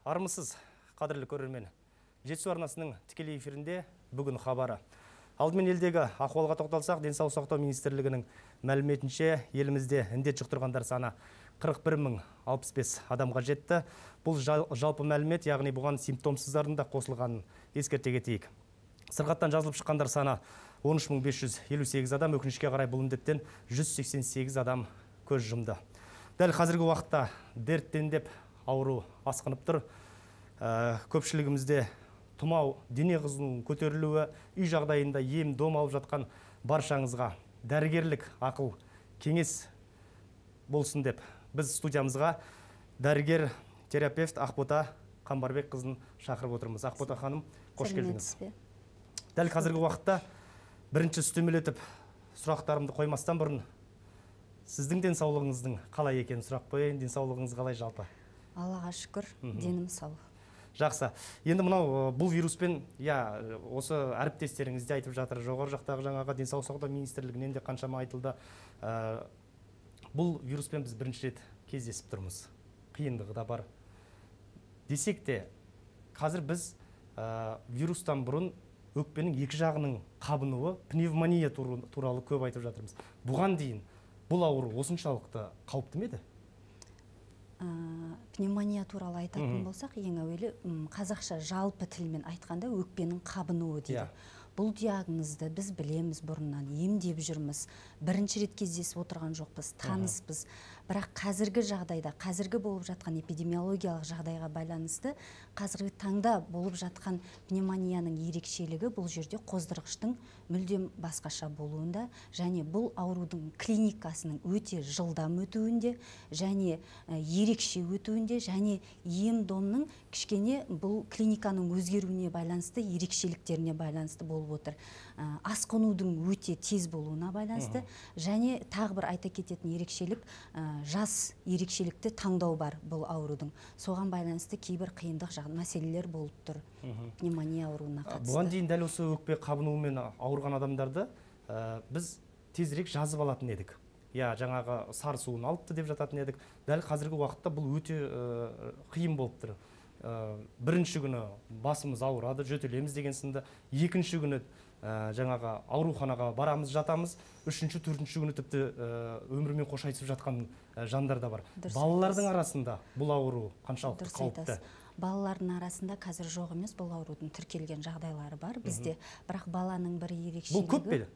Армысыз, қадірлі көрермен. Жетісу арнасының тікелей эфирінде бүгін хабары. Алдымен елдегі ахуалға тоқталсақ, денсаулық сақтау министрлігінің мәліметінше елімізде індет жұқтырғандар саны 41.065 адамға жетті. Бұл жалпы мәлімет, яғни бұған симптомсыздардың да қосылғанын ескерте кетейік. Сырқаттан жазылып шыққандар саны 13.558 адам, өкінішке қарай бұл індеттен 188 адам көз жұмды. Дәл қазіргі уақытта дерттендеп ауру асқынып тұр. Көпшілігімізде тұмау, дене қызуының көтерілуі, үй жағдайында ем-дом алып жатқан баршаңызға дәрігерлік ақыл кеңес болсын деп біз студиямызға дәрігер терапевт Ақбота Қамбарбек қызын шақырып отырмыз. Ақбота ханым, қош келдіңіз. Дәл қазіргі уақытта бірінші үстемелетіп сұрақтарымды қоймастан бұрын сіздің денсаулығыңыздың қалай екенін сұрақ қояйын. Денсаулығыңыз қалай жалпы? Аллаға шүкір, денім сау. Жақсы. Енді мынау бұл вируспен, осы әріптестеріңіз де айтып жатыр, жоғары жақтағы жаңағы денсаулық сақтау министрлігінен де қаншама айтылды. Бұл вируспен біз бірінші рет кездесіп тұрмыз. Қиындығы да бар. Десек те, қазір біз вирустан бұрын өкпенің екі жағының қабынуы, пневмония туралы көп айтып жатырмыз. Бұған дейін бұл ауру осыншалықты қауіпті ме еді? Пневмония туралы айтатын болсақ, ең әуелі қазақша жалпы тілмен айтқанда өкпенің қабынуы дейді. Бұл диагнозды біз білеміз бұрыннан, емдеп жүрміз. Бірінші рет кездесіп отырған жоқпыз, таныспыз. Бірақ қазіргі жағдайда, қазіргі болып жатқан эпидемиологиялық жағдайға байланысты, қазіргі таңда болып жатқан пневмонияның ерекшелігі бұл жерде қоздырғыштың мүлдем басқаша болуында, және бұл аурудың клиникасының өте жылдам өтуінде, және ерекше өтуінде, және ем-домның кішкене бұл клиниканың өзгеруіне байланысты, ерекшеліктеріне байланысты болып отыр. Асқынудың өте тез болуына байланысты, және тағы бір айта кететін ерекшелік, жас ерекшелікті таңдау бар бұл аурудың. Соған байланысты кейбір қиындық мәселелер болып тұр пневмония ауруына қатысты. Бұған дейін дәл осы өкпе қабынуымен ауырған адамдарды біз тезірек жазып алатын едік. Жаңағы сарысуын алыпты деп жататын едік. Дәл қазіргі уақытта бұл өте қиын болып тұр. Бірінші күні басымыз ауырады, жөтелеміз деген сынды. Екінші күні жаңағы ауруханаға барамыз, жатамыз. Үшінші, төртінші күні тіпті өмірмен қош айтысып жатқан жандар да бар. Балалардың арасында бұл ауру қаншалықты қауіпті? Балалардың арасында қазір жоқ емес, бұл аурудың тіркелген жағдайлары бар бізде. Бірақ баланың бір ерекшелігі. Бұл көп пе?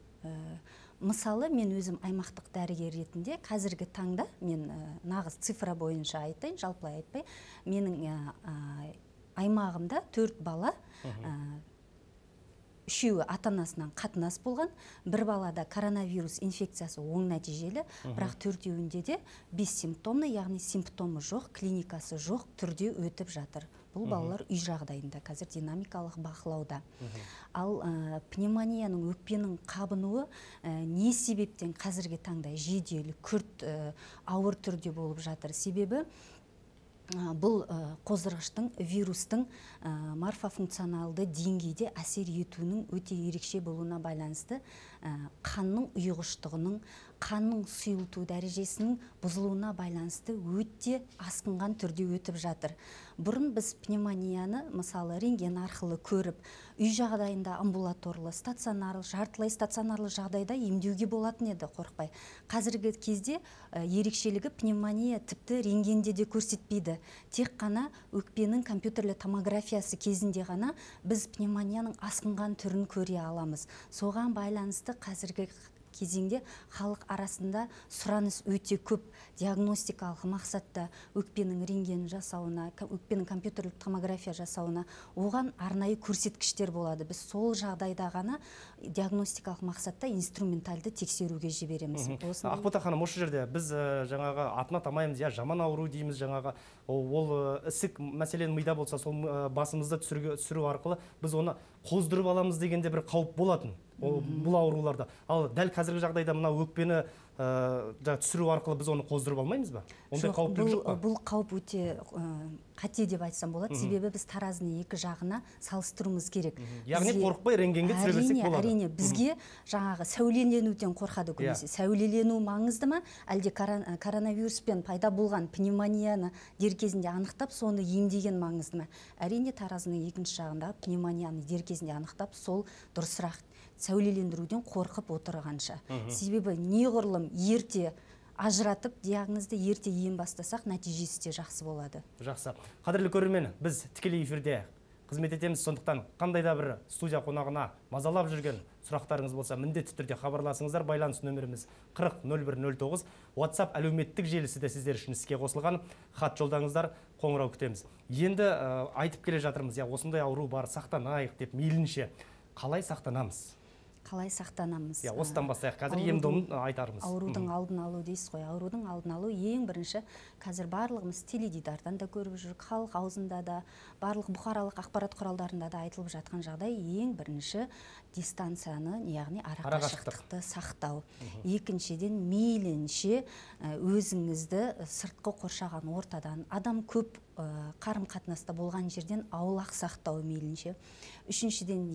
Мысалы, мен өзім аймақтық дәрігер ретінде қазіргі таңда, мен нағыз цифра бойынша айтайын, жалпылай айтпай, менің аймағымда 4 бала, үшеуі ата-анасынан қатынас болған, бір балада коронавирус инфекциясы оң нәтижелі, бірақ 4-еуінде де бессимптомны, яғни симптомы жоқ, клиникасы жоқ түрде өтіп жатыр. Бұл балалар үй жағдайында, қазір динамикалық бақылауда. Ал пневмонияның, өкпенің қабынуы не себептен қазіргі таңда жедел, күрт, ауыр түрде болып жатыр? Себебі бұл қоздырғыштың, вирустың морфофункционалды деңгейде әсер етуінің өте ерекше болуына байланысты қанның ұйғыштығының, қанның сұйылту дәрежесінің бұзылуына байланысты өте асқынған түрде өтіп жатыр. Бұрын біз пневмонияны, мысалы, рентген арқылы көріп, үй жағдайында амбулаторлы, стационарлы, жартылай стационарлы жағдайда емдеуге болатын еді, қорықпай. Қазіргі кезде ерекшелігі пневмония тіпті рентгенде де көрсетпейді. Тек қана өкпенің компьютерлі томографиясы кезінде ғана біз пневмонияның асқынған түрін көре аламыз. Соған байланысты қазіргі кезеңде халық арасында сұраныс өте көп, диагностикалық мақсатта өкпенің рентген жасауына, өкпенің компьютерлік томография жасауына, оған арнайы көрсеткіштер болады. Біз сол жағдайда ғана диагностикалық мақсатта инструментальды тексеруге жібереміз. Ақбота ханым, осы жерде біз жаңағы атын атамаймыз, жаман ауру дейміз, жаңағы ол ісік мәселен мида болса, сол басымызды түсіру арқылы біз оны қоздырып аламыз дегенде бір қауіп болатын бұл ауруларда. Ал дәл қазіргі жағдайда мына өкпені түсіру арқылы біз оны қоздырып алмаймыз ба? Ондай қауіптілік жоқ па? Бұл қауіп өте қате деп айтсам болады. Себебі біз таразының екі жағына салыстыруымыз керек. Яғни қорықпай рентгенге түсіре берсек болады. Әрине, бізге жаңағы сәулеленуден қорқады көбінесе. Сәулелену маңызды ма, әлде коронавируспен пайда болған пневмонияны дер кезінде анықтап, соны емдеген маңызды ма? Әрине, таразының екінші жағында пневмонияны дер кезінде анықтап, сол дұрысырақ сәулелендіруден қорқып отырғанша. Себебі неғұрлым ерте ажыратып, диагнозды ерте ем бастасақ, нәтижесі де жақсы болады. Жақсы. Қадірлі көрермен, біз тікелей эфирде қызмет етеміз, сондықтан қандай да бір студия қонағына мазалап жүрген сұрақтарыңыз болса, міндетті түрде хабарласыңыздар. Байланыс нөміріміз 40-01-09. WhatsApp әлеуметтік желісі де сіздер үшін іске қосылған. Хат жолдаңыздар, қоңырау күтеміз. Енді айтып келе жатырмыз, осындай ауру бар, сақтанайық деп мейлінше. Қалай сақтанамыз? Қалай сақтанамыз? Осыдан бастайық. Қазір ем-домын айтармыз. Аурудың алдын алу дейсіз ғой. Аурудың алдын алу ең бірінші, қазір барлығымыз теледидардан да көріп жүрік, халық аузында да, барлық бұқаралық ақпарат құралдарында да айтылып жатқан жағдай, ең бірінші дистанцияны, яғни арақашықтықты сақтау. Екіншіден, мейлінше өзіңізді сыртқы қоршаған ортадан, адам көп қарым-қатынаста болған жерден аулақ сақтау мейлінше. Үшіншіден,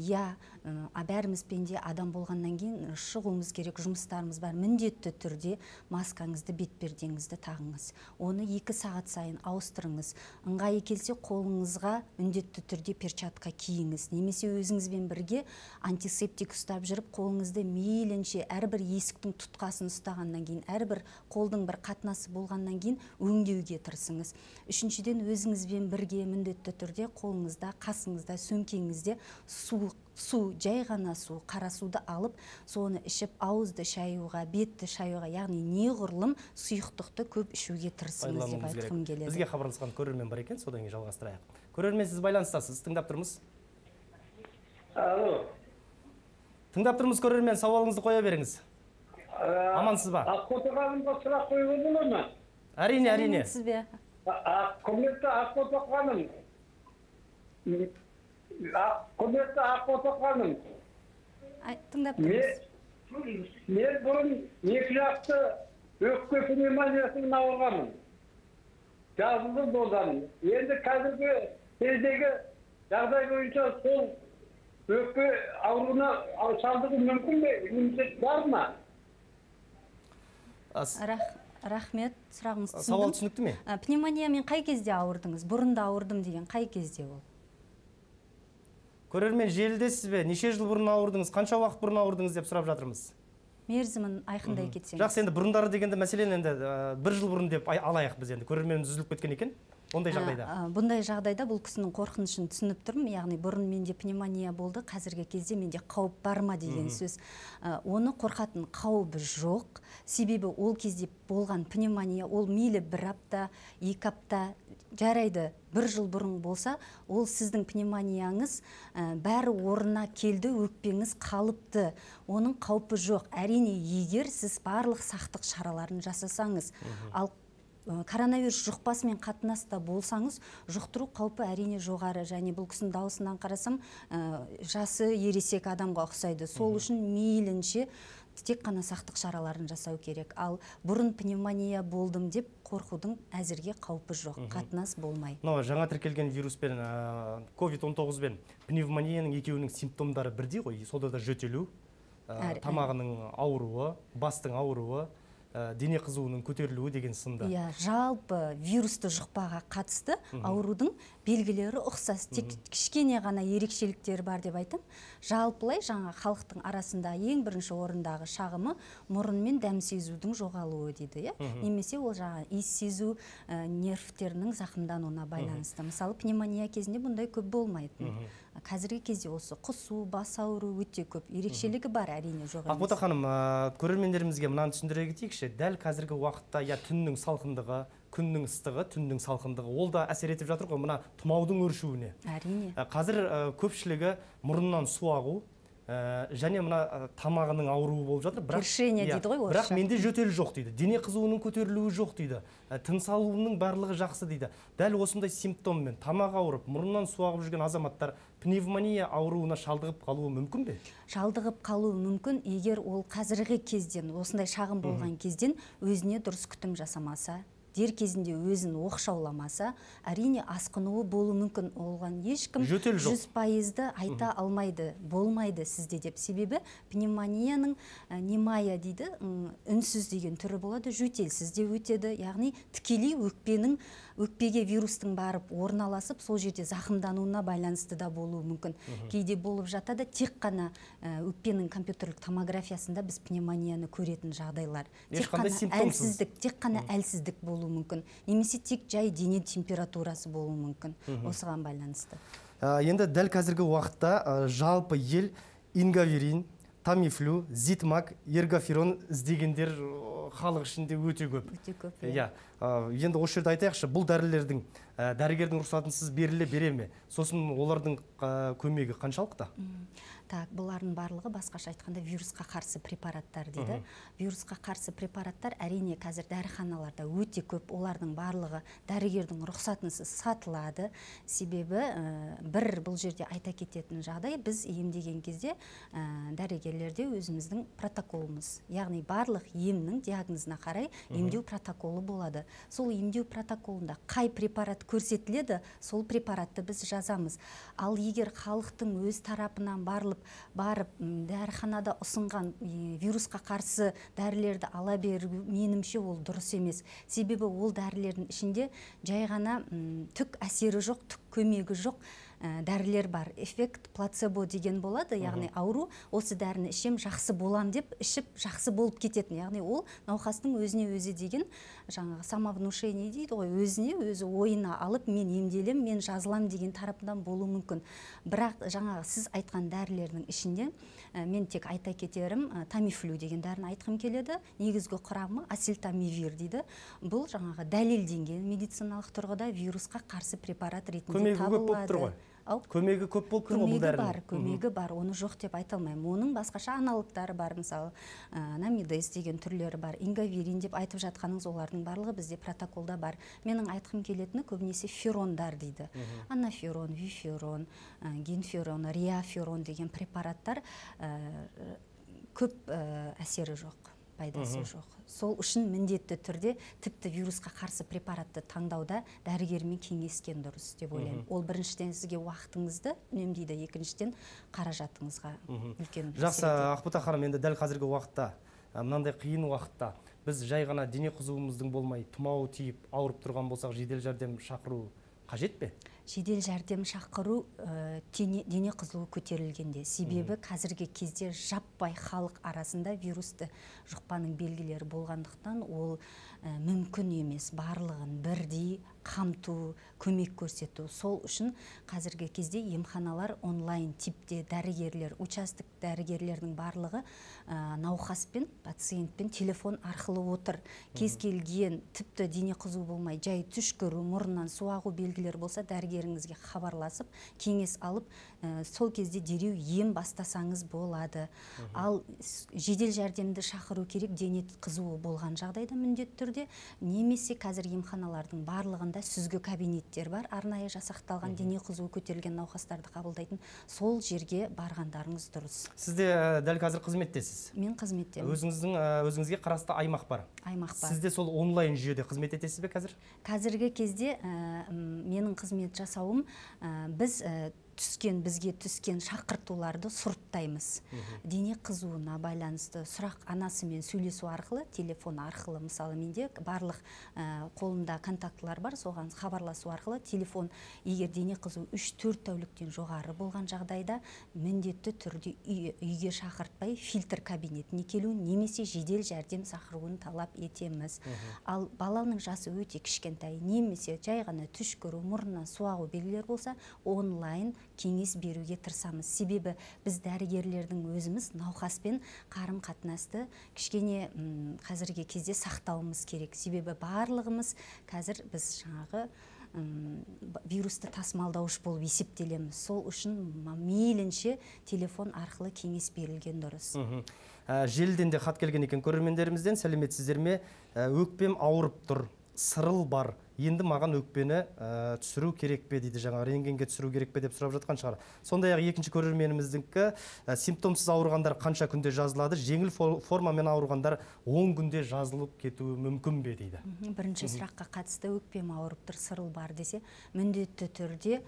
бәріміз пенде адам болғаннан кейін шығуымыз керек, жұмыстарымыз бар. Міндетті түрде маскаңызды, бетпердеңізді тағыңыз. Оны 2 сағат сайын ауыстырыңыз. Ыңғайы келсе, қолыңызға міндетті түрде перчатка киіңіз. Немесе өзіңізбен бірге антисептик ұстап жүріп, қолыңызды мейлінше әрбір есіктің тұтқасын ұстағаннан кейін, әрбір қолдың бір қатынасы болғаннан кейін өңдеуге тырысыңыз. Үшіншіден, өзіңізбен бірге міндетті түрде қолыңызда, қасыңызда, сөмкеңізде су, жай ғана су, қара суды алып, соны ішіп, ауызды шаюға, бетті шаюға, яғни неғұрлым сұйықтықты көп ішуге тырысыңыз деп айтқым келеді. Бізге хабарласқан көрермен бар екен, содан кейін жалғастырайық. Көрермен, сіз байланыстасыз, тыңдап тұрмыз. Алло. Тыңдап тұрмыз, көрермен, сауалыңызды қоя беріңіз. Амансыз ба? Ақбота ханымға сұрақ қоюға болады ма? Әрине, әрине. Сіз бе? Құрметті Ақбота ханым. Құрметті Ақбота ханым. Тыңдап тұрмыз. Мен бұрын 2 жақты өкпе пневмониясымен ауырғанмын. Жазылды болғанмын. Енді қазіргі кездегі жағдай бойынша сол өкпе ауруына шалдығу мүмкін бе? Иммунитет бар ма? Рахмет, сұрағыңыз түсіндім. Сауал түсінікті ме? Пневмониямен қай кезде ауырдыңыз? Бұрында ауырдым деген қай кезде ол? Көрермен, желідесіз бе? Неше жыл бұрын ауырдыңыз? Қанша уақыт бұрын ауырдыңыз деп сұрап жатырмыз. Мерзімін айқындай кетсеңіз. Жақсы, енді бұрындары дегенде мәселен енді 1 жыл бұрын деп алайық біз енді. Көрерменіміз үзіліп кеткен екен. Ондай жағдайда. Бұндай жағдайда бұл кісінің қорқынышын түсініп тұрмын. Яғни бұрын менде пневмония болды, қазіргі кезде менде қауіп бар ма деген сөз. Оны қорқатын қауібі жоқ. Себебі ол кезде болған пневмония, ол мейлі 1 апта, 2 апта жарайды, 1 жыл бұрын болса, ол сіздің пневмонияңыз бәрі орнына келді, өкпеңіз қалыпты. Оның қаупі жоқ. Әрине, егер сіз барлық сақтық шараларын жасасаңыз, ал коронавирус жұқпасымен қатынаста болсаңыз, жұқтыру қаупі әрине жоғары. Және бұл кісінің даусынан қарасам, жасы ересек адамға ұқсайды. Сол үшін мейлінше тек қана сақтық шараларын жасау керек. Ал бұрын пневмония болдым деп қорқудың әзірге қаупі жоқ, қатынас болмай. Жаңа тіркелген вируспен, COVID-19 бен пневмонияның екеуінің симптомдары бірдей ғой. Сонда да жөтелу, тамағының ауруы, бастың ауруы, дене қызуының көтерілуі деген сынды. Жалпы вирусты жұқпаға қатысты аурудың белгілері ұқсас. Тек кішкене ғана ерекшеліктері бар деп айтам. Жалпылай жаңа халықтың арасында ең бірінші орындағы шағымы мұрын мен дәм сезудің жоғалуы дейді. Немесе ол жаңа иіс сезу нервтерінің зақымдануына байланысты. Мысалы, пневмония кезінде бұндай көп болмайтын. Қазіргі кезде осы құсу, бас ауыру өте көп. Ерекшелігі бар, әрине жоқ емес. Ақбота ханым, көрермендерімізге мынаны түсіндіре кетейікші. Дәл қазіргі уақытта түннің салқындығы, күннің ыстығы, түннің салқындығы, ол да әсер етіп жатыр ғой мына тұмаудың өршуіне. Әрине. Қазір көпшілігі мұрыннан су ағу, және мына тамағының ауруы болып жатыр. Кіршение дейді ғой бірақ менде жөтел жоқ дейді. Дене қызуының көтерілуі жоқ дейді. Тыныс алуының барлығы жақсы дейді. Дәл осындай симптоммен тамақ ауырып, мұрнынан су ағып жүрген азаматтар пневмония ауруына шалдығып қалуы мүмкін бе? Шалдығып қалуы мүмкін, егер ол қазіргі кезден, осындай шағым болған кезден өзіне дұрыс күтім жасамаса, дер кезінде өзін оқшауламаса, әрине асқынуы болуы мүмкін. Олған ешкім 100%-ды айта алмайды, болмайды сізде деп. Себебі пневмонияның немая дейді, үнсіз деген түрі болады, жөтелсіз де өтеді. Яғни тікелей өкпеге вирустың барып орналасып, сол жерде зақымдануына байланысты да болуы мүмкін. Кейде болып жатады, тек қана өкпенің компьютерлік томографиясында біз пневмонияны көретін жағдайлар. Тек қана әлсіздік болуы мүмкін. Немесе тек жай дене температурасы болуы мүмкін. Осыған байланысты. Енді дәл қазіргі уақытта жалпы ел ингаверин, тамифлю, зитмак, эргоферон іздегендер халық ішінде өте көп. Енді осы жерде айтайықшы, бұл дәрілердің дәрігердің рұқсатынсыз бере ме? Сосын олардың көмегі қаншалықты? Так, бұлардың барлығы басқаша айтқанда вирусқа қарсы препараттар дейді. Вирусқа қарсы препараттар әрине қазір дәріханаларда өте көп, олардың барлығы дәрігердің рұқсатынсыз сатылады. Себебі бұл жерде айта кететін жағдай, біз емдеген кезде дәрігерлерде өзіміздің протоколымыз, яғни барлық емнің диагнозына қарай емдеу протоколы болады. Сол емдеу протоколында қай препарат көрсетіледі, сол препаратты біз жазамыз. Ал егер халықтың өз тарапынан барып дәріханада ұсынған вирусқа қарсы дәрілерді ала беру, менімше ол дұрыс емес. Себебі ол дәрілердің ішінде жай ғана түк әсері жоқ, түк көмегі жоқ дәрілер бар. Эффект плацебо деген болады, яғни ауру осы дәріні ішем, жақсы болам деп ішіп жақсы болып кететін. Яғни ол науқастың өзіне өзі деген жаңағы самовнушение дейді ғой, өзіне өзі ойына алып мен емделем, мен жазылам деген тарапынан болуы мүмкін. Бірақ жаңағы сіз айтқан дәрілердің ішінде мен тек айта кетерім, тамифлю деген дәріні айтқым келеді. Негізгі құрамы асилтамивир дейді. Бұл жаңағы дәлелденген медициналық тұрғыда вирусқа қарсы препарат ретінде табылады. Көмегі көп болып тұр ғой бұл дәрінің? Көмегі бар, оны жоқ деп айта алмаймын. Оның басқаша аналогтары бар, мысалы намидес деген түрлері бар, ингаверин деп айтып жатқаныңыз, олардың барлығы бізде протоколда бар. Менің айтқым келетіні көбінесе ферондар дейді. Анаферон, виферон, генферон, риаферон деген препараттар көп әсері жоқ, пайдасы жоқ. Сол үшін міндетті түрде тіпті вирусқа қарсы препаратты таңдауда дәрігермен кеңескен дұрыс деп ойлаймын. Ол біріншіден сізге уақытыңызды үнемдейді, екіншіден қаражатыңызға үлкен. Жақсы, Ақбота ханым, енді дәл қазіргі уақытта, мынандай қиын уақытта біз жай ғана дене қызуымыздың болмай, тұмауы тиіп, ауырып тұрған болсақ, жедел жәрдем шақыру қажет пе? Жедел жәрдем шақыру дене қызуы көтерілгенде. Себебі қазіргі кезде жаппай халық арасында вирусты жұқпаның белгілері болғандықтан ол мүмкін емес. Барлығын бірдей қамту, көмек көрсету. Сол үшін қазіргі кезде емханалар онлайн типте дәрігерлер, участок дәрігерлердің барлығы науқаспен, пациентпен телефон арқылы отыр. Кез келген тіпті дене қызуы болмай, жай түшкіру, мұрнынан су ағу белгілері болса, дәрігеріңізге хабарласып, кеңес алып, сол кезде дереу ем бастасаңыз болады. Ал жедел жәрдемді шақыру керек дене қызуы болған жағдайда міндетті түрде, немесе қазір емханалардың барлығында сүзгі кабинеттер бар, арнайы жасақталған дене қызуы көтерілген науқастарды қабылдайтын, сол жерге барғандарыңыз дұрыс. Сіз де дәл қазір қызметтесіз? Мен қызметтемін. Өзіңізге қарасты аймақ бар? Аймақ бар. Сіз де сол онлайн жүйеде қызмет етесіз бе қазір? Қазіргі кезде менің қызмет жасауым, бізге түскен шақыртуларды сұрыптаймыз. Дене қызуына байланысты сұрақ анасымен сөйлесу арқылы, телефон арқылы, мысалы менде барлық қолында контактылар бар, соған хабарласу арқылы телефон, егер дене қызуы 3-4 тәуліктен жоғары болған жағдайда міндетті түрде үйге шақыртпай фильтр кабинетіне келу, немесе жедел жәрдем шақыруын талап етеміз. Ал баланың жасы өте кішкентай, немесе жай ғана түшкіру, мұрнынан су ағу белгілері болса, онлайн кеңес беруге тырысамыз. Себебі біз дәрігерлердің өзіміз науқаспен қарым қатынасты кішкене қазіргі кезде сақтауымыз керек. Себебі барлығымыз қазір біз жаңағы вирусты тасымалдауыш болып есептелеміз. Сол үшін мейлінше телефон арқылы кеңес берілген дұрыс. Желіден де хат келген екен көрермендерімізден. Сәлеметсіздер ме? Өкпем ауырып тұр, сырыл бар. Енді маған өкпені түсіру керек пе дейді, жаңа рентгенге түсіру керек пе деп сұрап жатқан шығар. Сондай-ақ екінші көрерменіміздіңкі симптомсыз ауырғандар қанша күнде жазылады, жеңіл формамен ауырғандар 10 күнде жазылып кетуі мүмкін бе дейді. Бірінші сұраққа қатысты өкпем ауырып тұр, сырыл бар десе, міндетті түрде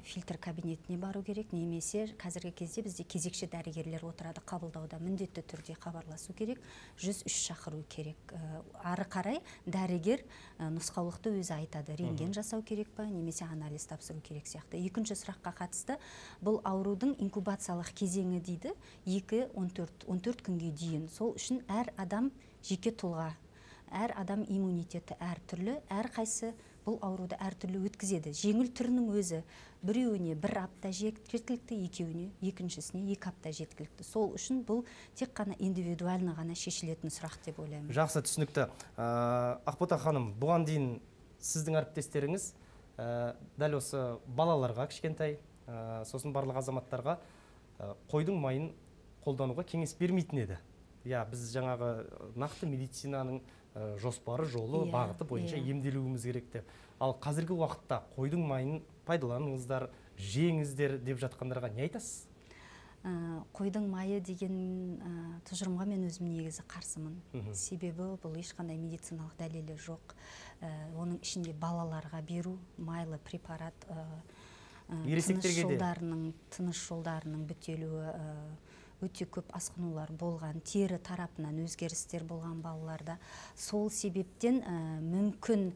фильтр кабинетіне бару керек, немесе қазіргі кезде бізде кезекші дәрігерлер отырады қабылдауда, міндетті түрде хабарласу керек, 103 шақыру керек. Ары қарай дәрігер нұсқаулықты өзі айтады, рентген жасау керек па, немесе анализ тапсыру керек сияқты. Екінші сұраққа қатысты, бұл аурудың инкубациялық кезеңі дейді, 2-14 күнге дейін. Сол үшін әр адам жеке тұлға, әр адам иммунитеті әртүрлі, әрқайсы бұл ауруды әртүрлі өткізеді. Жеңіл түрінің өзі біреуіне 1 апта жеткілікті, екеуіне, екіншісіне 2 апта жеткілікті. Сол үшін бұл тек қана индивидуально ғана шешілетін сұрақ деп ойлаймын. Жақсы, түсінікті. Ақбота ханым, бұған дейін сіздің әріптестеріңіз дәл осы балаларға кішкентай, сосын барлық азаматтарға қойдың майын қолдануға кеңес бермейтін еді. Біз жаңағы нақты медицинаның жоспары, жолы, бағыты бойынша емделуіміз керек деп. Ал қазіргі уақытта қойдың майын пайдаланыңыздар, жеңіздер деп жатқандарға не айтасыз? Қойдың майы деген тұжырымға мен өзім негізі қарсымын. Себебі бұл ешқандай медициналық дәлелі жоқ. Оның ішінде балаларға беру майлы препарат, тыныс жолдарының бітелуі, өте көп асқынулар болған, тері тарапынан өзгерістер болған балаларда. Сол себептен мүмкін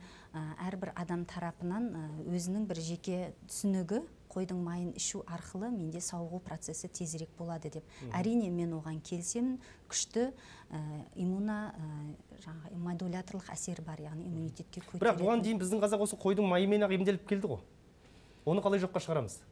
әрбір адам тарапынан өзінің бір жеке түсінігі қойдың майын ішу арқылы менде сауығу процесі тезірек болады деп. Әрине мен оған келсемін, күшті модуляторлық әсері бар, яғни иммунитетке көтеретін. Бірақ бұған дейін біздің қазақ осы қойдың майымен ақ емделіп келді ғой. Оны қалай жоққа шығарамыз?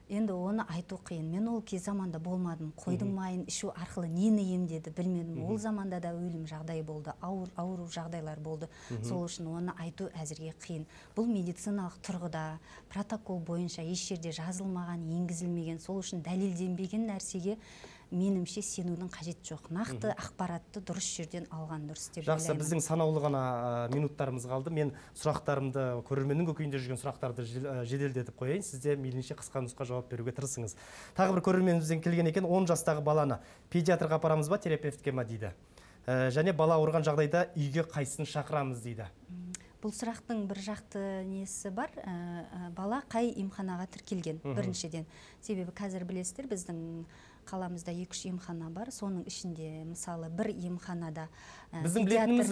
Енді оны айту қиын. Мен ол кез заманда болмадым. Қойдың майын ішу арқылы нені емдеді білмедім. Ол заманда да өлім жағдай болды, ауру жағдайлар болды. Сол үшін оны айту әзірге қиын. Бұл медициналық тұрғыда протокол бойынша еш жерде жазылмаған, енгізілмеген, сол үшін дәлелденбеген нәрсеге менімше сенудің қажет жоқ. Нақты ақпаратты дұрыс жерден алған дұрыс деп ойлаймын. Жақсы, біздің санаулы ғана минуттарымыз қалды. Мен сұрақтарымды, көрерменнің көкейінде жүрген сұрақтарды жеделдетіп қояйын. Сізде мейлінше қысқа нұсқа жауап беруге тырысыңыз. Тағы бір көрерменімізден келген екен, 10 жастағы баланы педиатрға апарамыз ба, терапевтке ма дейді. Және бала ауырған жағдайда үйге қайсысын шақырамыз дейді. Бұл сұрақтың бір жақты несі бар, бала қай емханаға тіркелген біріншіден. Себебі қазір білесіздер, біздің қаламызда 2-3 емхана бар, соның ішінде мысалы бір емханада біздің білетініміз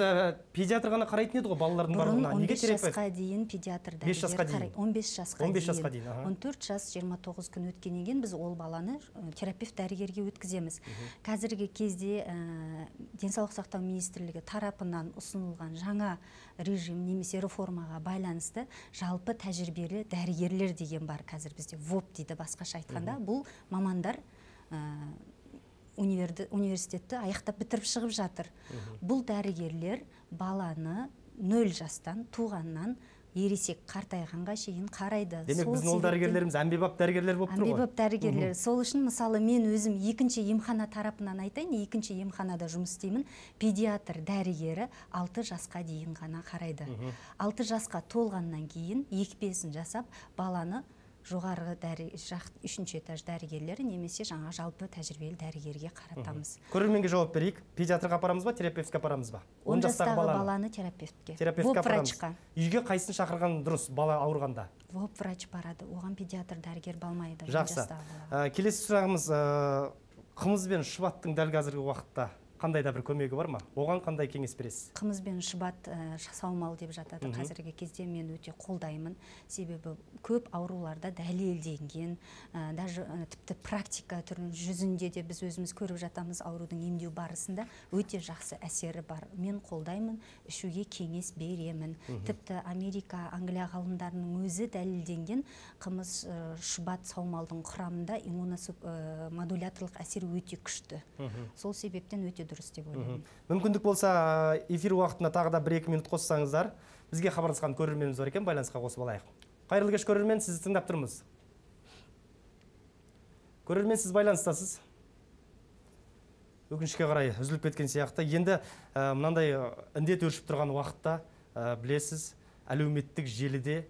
педиатр ғана қарайтын еді ғой балалардың барлығына. Неге терапевт? 15 жасқа дейін педиатр дәрігер қарайды. 15 жасқа дейін. 14 жас 29 күн өткеннен кейін біз ол баланы терапевт дәрігерге өткіземіз. Қазіргі кезде денсаулық сақтау министрлігі тарапынан ұсынылған жаңа режим немесе реформаға байланысты жалпы тәжірибелі дәрігерлер деген бар қазір бізде. ВОП дейді басқаша айтқанда. Бұл мамандар университетті аяқтап бітіріп шығып жатыр. Бұл дәрігерлер баланы 0 жастан туғаннан ересек қартайғанға шейін қарайды. Демек біздің ол дәрігерлеріміз әмбебап дәрігерлер болып тұр ғой. Әмбебап дәрігерлер. Сол үшін мысалы мен өзім екінші емхана тарапынан айтайын, екінші емханада жұмыс істеймін. Педиатр дәрігері 6 жасқа дейін ғана қарайды. 6 жасқа толғаннан кейін екпесін жасап баланы жоғарғы 3-ші этаж дәрігерлері немесе жаңа жалпы тәжірибелі дәрігерге қаратамыз. Көрерменге жауап берейік. Педиатрға апарамыз ба, терапевтке апарамыз ба? 10 жастағы баланы терапевтке. Терапевтке апарамыз. Үйге қайсын шақырған дұрыс бала ауырғанда? ВОП врач барады. Оған педиатр дәрігер балмайды. Жақсы. Келесі сұрағымыз, қымыз бен шұбаттың дәл қазіргі уақытта қандай да бір көмегі бар ма? Оған қандай кеңес бересіз? Қымыз бен шұбат саумал деп жатады. Қазіргі кезде мен өте қолдаймын. Себебі көп ауруларда дәлелденген, даже тіпті практика түрінің жүзінде де біз өзіміз көріп жатамыз аурудың емдеу барысында өте жақсы әсері бар. Мен қолдаймын, ішуге кеңес беремін. Тіпті Америка, Англия ғалымдарының өзі дәлелденген қымыз шұбат саумалдың құрамында иммуномодуляторлық әсері өте күшті. Сол себептен өте дұрыс деп ойлаймын. Мүмкіндік болса, эфир уақытына тағы да 1-2 минут қоссаңыздар, бізге хабарласқан көрерменіміз бар екен, байланысқа қосып алайық. Қайырлы кеш көрермен, сізді тыңдап тұрмыз. Көрермен, сіз байланыстасыз. Өкінішке қарай үзіліп кеткен сияқты. Енді мынандай індет өршіп тұрған уақытта білесіз, әлеуметтік желіде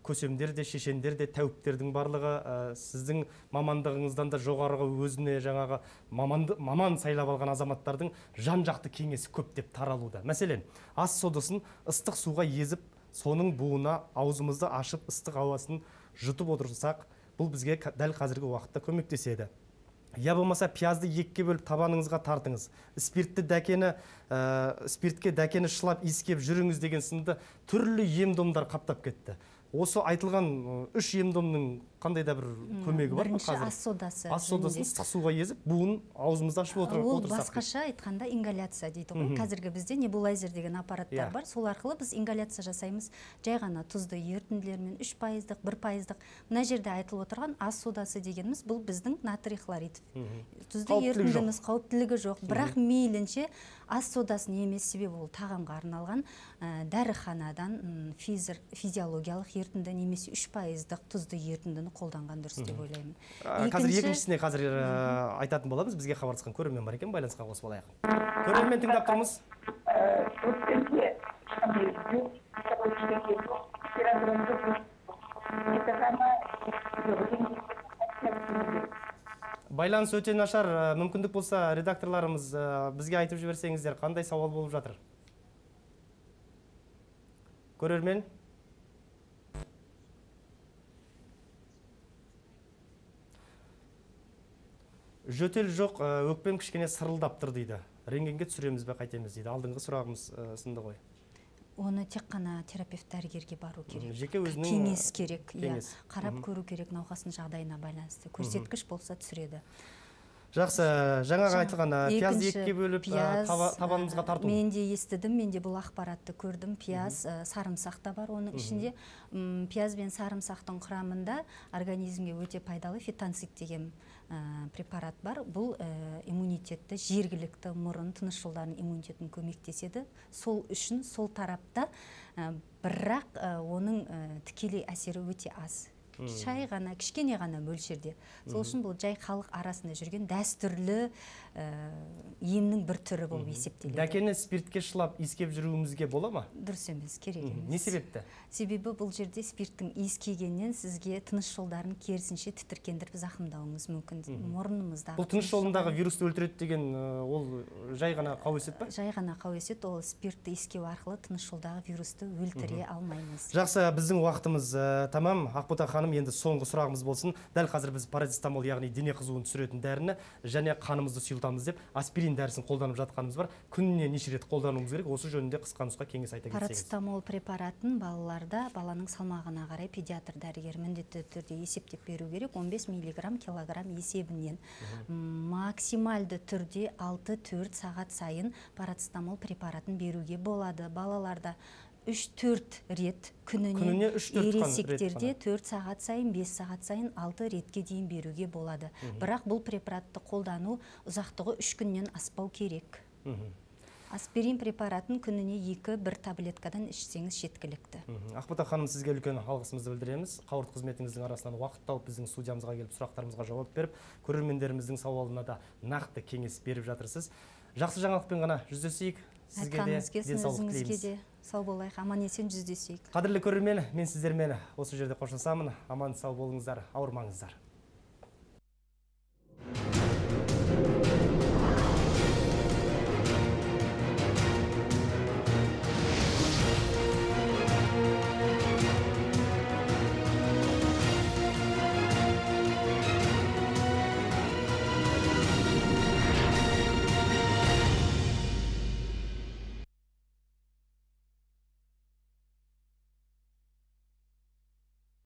көсемдер де, шешендер де, тәуіптердің барлығы сіздің мамандығыңыздан да жоғарғы өзіне жаңағы маман сайлап алған азаматтардың жан-жақты кеңесі көп деп таралуда. Мәселен, ас содасын ыстық суға езіп, соның буына аузымызды ашып ыстық ауасын жұтып отырсақ, бұл бізге дәл қазіргі уақытта көмектеседі. Я болмаса пиязды екіге бөліп табаныңызға тартыңыз. Спиртке дәкені шылап иіскеп жүріңіз деген сынды түрлі ем-домдар қаптап кетті. Осы айтылған 3 ем-домның қандай да бір көмегі бар ма қазір? Бірінші ас содасы. Ас содасын ыстық суға езіп, буын аузымызды ашып отырсақ. Ол басқаша айтқанда ингаляция дейді ғой. Қазіргі бізде небулайзер деген аппараттар бар. Сол арқылы біз ингаляция жасаймыз. Жай ғана тұзды ерітінділермен 3%, 1%. Мына жерде айтылып отырған ас содасы дегеніміз бұл біздің натрий хлорид. Тұзды ерітіндіміз қауіптілігі жоқ. Бірақ мейлінше ас содасын емес, себебі ол тағамға арналған дәріханадан физиологиялық ерітінді немесе 3%-дық тұзды ерітіндіні қолданған дұрыс деп ойлаймын. Қазір екіншісіне айтатын боламыз. Бізге хабарласқан көрермен бар екен, байланысқа қосып алайық. Көрермен тыңдап тұрмыз. Байланыс өте нашар. Мүмкіндік болса, редакторларымыз бізге айтып жіберсеңіздер, қандай сауал болып жатыр? Көрермен? Жөтел жоқ, өкпем кішкене сырылдап тұр дейді. Рентгенге түсіреміз бе, қайтеміз дейді. Алдыңғы сұрағымыз сынды ғой. Оны тек қана терапевт дәрігерге бару керек. Жеке өзінің кеңес керек, қарап көру керек науқастың жағдайына байланысты. Көрсеткіш болса түсіреді. Жақсы, жаңаға айтылған пиязды екіге бөліп табанымызға тарту. Мен де естідім, мен де бұл ақпаратты көрдім. Пияз, сарымсақ та бар оның ішінде. Пияз бен сарымсақтың құрамында организмге өте пайдалы фитонцид деген препарат бар. Бұл иммунитетті, жергілікті мұрын, тыныс жолдарының иммунитетін көмектеседі. Сол үшін, сол тарапта, бірақ оның тікелей әсері өте аз. Шай ғана, кішкене ғана мөлшерде. Сол үшін бұл жай халық арасында жүрген дәстүрлі емнің бір түрі болып есептеледі. Дәкені спиртке шылап иіскеп жүруімізге бола ма? Дұрыс емес, керек емес. Не себепті? Себебі бұл жерде спирттің иіскегеннен сізге тыныс жолдарын керісінше тітіркендіріп зақымдауыңыз мүмкін. Мұрнымыздағы. Бұл тыныс жолындағы вирусты өлтіреді деген ол жай ғана қауесет па? Жай ғана қауесет, ол спиртті иіскеу арқылы тыныс жолдағы вирусты өлтіре алмаймыз. Жақсы, біздің уақытымыз тамам. Ақбота ханым, енді соңғы сұрағымыз болсын. Дәл қазір біз парацетамол, яғни дене қызуын түсіретін дәріні және қанымызды сұйылтамыз деп аспирин дәрісін қолданып жатқанымыз бар. Күніне неше рет қолдануымыз керек? Осы жөнінде қысқа нұсқа кеңес айта кетсеңіз. Парацетамол препаратын балаларда баланың салмағына қарай педиатр дәрігер міндетті түрде есептеп беру керек. 15 мг килограмм есебінен. Максималды түрде 6-4 сағат сайын парацетамол препаратын беруге болады. Балаларда 3-4 рет күніне, ересектерде 4 сағат сайын, 5 сағат сайын 6 ретке дейін беруге болады. Бірақ бұл препаратты қолдану ұзақтығы 3 күннен аспау керек. Аспирин препаратын күніне 2-1 таблеткадан ішсеңіз жеткілікті. Ақбота ханым, сізге үлкен алғысымызды білдіреміз. Қауырт қызметіңіздің арасынан уақыт тауып біздің студиямызға келіп сұрақтарымызға жауап беріп, көрермендеріміздің сауалына да нақты кеңес беріп жатырсыз. Жақсы жаңалықпен ғана жүздесейік. Сізге де денсаулық тілейміз. Сау болайық, аман есен жүздесейік. Қадірлі көрермен, мен сіздермен осы жерде қоштасамын. Аман сау болыңыздар, ауырмаңыздар.